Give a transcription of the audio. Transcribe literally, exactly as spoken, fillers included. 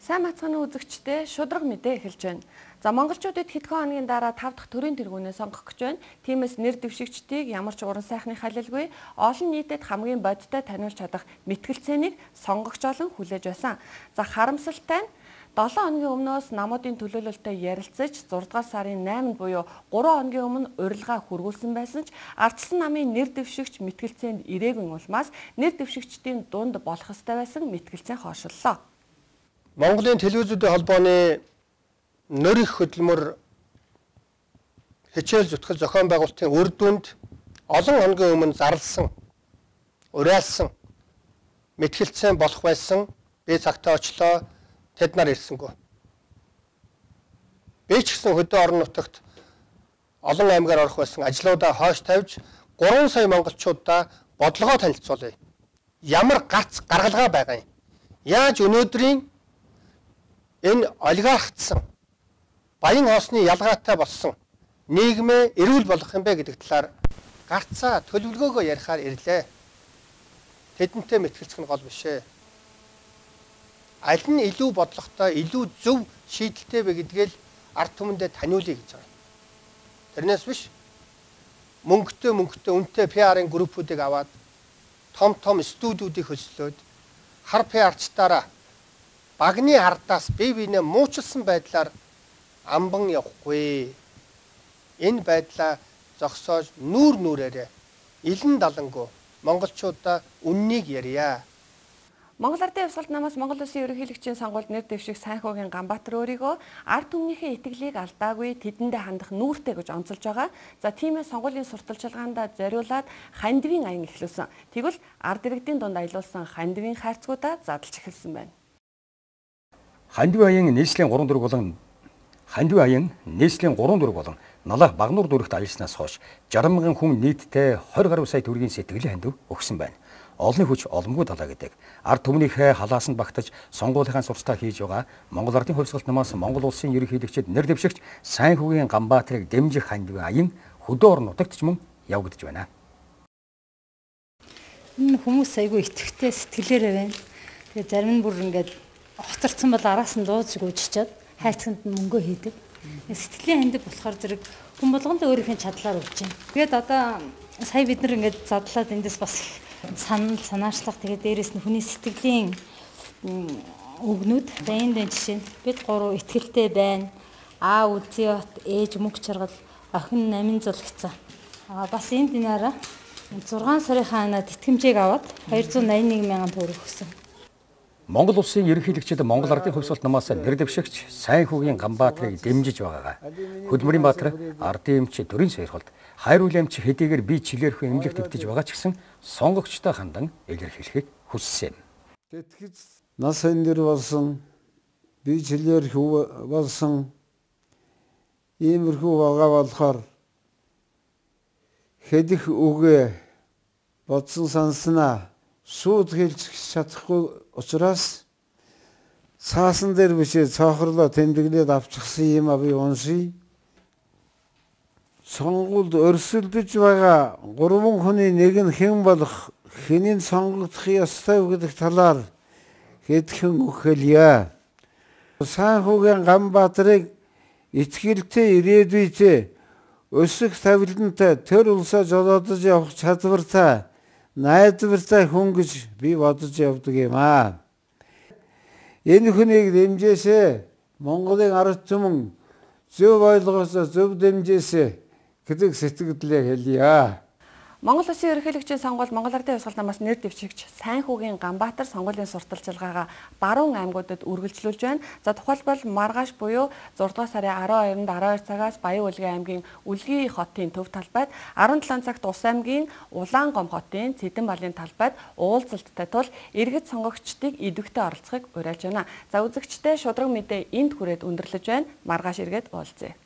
Сайн мацханы үзэгчдээ шудраг мэдээ эхэлж байна. За монголчуудад хэдхэн хоногийн дараа тав дахь төрийн тэргүүнээ сонгох гэж байна. Тиймээс нэр дэвшигчдийг ямар ч уран сайхны халилгүй олон нийтэд хамгийн бодиттой таниулж чадах мэтгэлцээнийг сонгогч олон хүлээж байсан. За харамсалтай нь долоон хоногийн өмнөөс намуудын төлөөлөлтөд ярилцаж зураг дугаар сарын найманд буюу гурван хоногийн өмнө урилга хүргүүлсэн байсан ч ардчилсан намын нэр дэвшигч мэтгэлцээнд ирээгүй улмаас нэр дэвшигчдийн дунд болох ёстой байсан мэтгэлцээ хойшлолоо. Монголын телевизүүдийн холбооны нөр их хөдөлмөр хичээл зүтгэл зохион байгуулалтын үр дүнд олон хоногийн өмнө зарласан, уриалсан, мэтгэлцээ болох байсан би цагтаа очлоо тэд нар ирсэнгүй. Би ч гэсэн хөдөө орон нутагт олон аймгаар орох байсан ажлуудаа хойш тавьж гурван сая монголчуудаа бодлогоо танилцуулъя. Ямар гац гаргалгаа байгаа юм. Яаж өнөөдрийн энэ олигархтсан баян хоосны ялгаатай болсон нийгмээ эрүүл болгох юм бэ гэдэг талаар гарцаа төлөвлөгөөгөө ярихаар ирлээ. Тэдэнтэй мэтгэлцэх нь гол биш ээ. Аль нь илүү бодлоготой, илүү зөв шийдэлтэй бэ гэдгээл ард түмэндээ таниулъя гэж байгаа. Тэрнээс биш мөнгөтэй мөнгөтэй үнэтэй пи ар-ын группүүдийг аваад том том студиудыг хөслөөд хар пи ар-чтаараа багны ардаас бие биенээ муучилсан байдлаар амбан явахгүй. Энэ байдлаа зогсоож нүүр нүрээрээ илэн далангуу монголчуудаа үннийг ярья. Монгол Ардын Хувьсгалт намаас Монгол Улсын ерөнхийлөгчийн сонгуульд нэр дэвших Сайнхүүгийн Ганбаатар өөрийгөө ард түмнийхээ итгэлийг алдаагүй тэдэндээ хандах нүүртэй гэж онцолж байгаа. За тиймээс сонгуулийн сурталчилгаанд зориулаад хандивын аян эхлүүлсэн. Тэгвэл ард иргэдийн дунд аялуулсан хандивын хайрцгуудаа задлж эхэлсэн байна. Хандивын аян нийслэлийн гурван дөрөв болон Хандивын аян нийслэлийн гурван дөрөв болон налах Багнуур дүрэгт аялснаас хойш жаргал мянган хүн нийтдээ двадцать гаруй сая төгрөгийн сэтгэлийн хандив өгсөн байна. Олонний хүч оломгүй далаа гэдэг ард түмнийхээ халаасанд багтаж сонгуулийнхаа сурталтаа хийж байгаа Монгол Ардын Хувьсгалт намаас Монгол Улсын ерөнхийлөгчид нэр дэвшигч Сайнхүүгийн Ганбаатарыг дэмжих Хандивын аян хөдөө орон нутагт ч мөн явагдаж байна. Энэ хүмүүс айгүй итгэвтэй сэтгэлээрээ байна. Тэгээ зарим нь бүр ингээд хоцорсон бол араас нь дууж гүйчичээд хайцганд нь мөнгөө хийдэг. Сэтгэлийн хандив болохоор зэрэг хүн болгонд өөрийнхөө чадлаар өгч байна. Тэгээд одоо сая бид нар ингээд задлаад эндээс бас санал санаачлах тэгээд дээрэс нь хүний сэтгэлийн өгнүүд баян дэнд жишээ нь бид гурав итгэлтэй байна. Аа үлзий бат ээж мөнгө чаргал охин намын зулгцсан. Аа бас энэ динаараа зургаан сарын хаанаад итгэмжийг аваад двадцать восемь мянган төгрөг өгсөн. Монгол Улсын ерөнхийлөгчид Монгол Ардын Хувьсгалт намаас нэр дэвшигч Сайнхүүгийн Ганбаатарыг дэмжиж байгаагаа Хөдмөрийн Баатар ардын эмч төрийн сойрхолд хайр үйл эмч хэдийгээр би чилээрхүү эмнэлэгт өвдөж байгаа ч гэсэн сонгогчтой хандан илэрхийлэхийг хүссэн. Тэтгэж нас хандир болсон би чилээрхүү болсон иймэрхүү байгаа болохоор хэдих үгээ бодсон санснаа шууд хэлж чадахгүй учраас цаасан дээр бишээ цоохорлоо тэмдэглээд авчихсан юм а би уншия. Сонгуульд өрсөлдөж байгаа гурван хүний нэг нь хэн болох, хэнийг сонгогдох ёстой гэдэг талаар хэдхэн үг хэлье. Сайнхүүгийн Ганбаатарыг итгэлтэй ирээдүйтэй өсөх тавилантай төр улсаа жолоодож явах чадвартай найдвартай хүн гэж би бодож явдаг юм аа. Энэ хүнийг дэмжээсэ Монголын ард түмэн зөв ойлгосоо зөв дэмжээсэ гэдэг сэтгэлдээ хэлье. Монгол Улсын ерөнхийлөгчийн сонгуульд Монгол Ардын Хувьсгалт намаас нэр дэвшигч Сайнхүүгийн Ганбаатар сонгуулийн сурталчилгаагаа баруун аймагуудад үргэлжлүүлж байна. За тухайлбал Маргааш буюу зураг дугаар сарын арван хоёрнд арван хоёр цагаас Баян Улгийн аймгийн Үлгий хотын төв талбайд, арван долоон цагт Ус аймгийн Улаангом хотын Цэдэн балын талбайд уулзалттай тул иргэд сонгогчдыг идэвхтэй оролцохыг уриалж байна. За үзэгчдээ шудраг мэдээ энд хүрээд өндөрлөж байна. Маргааш иргэд уулзъя.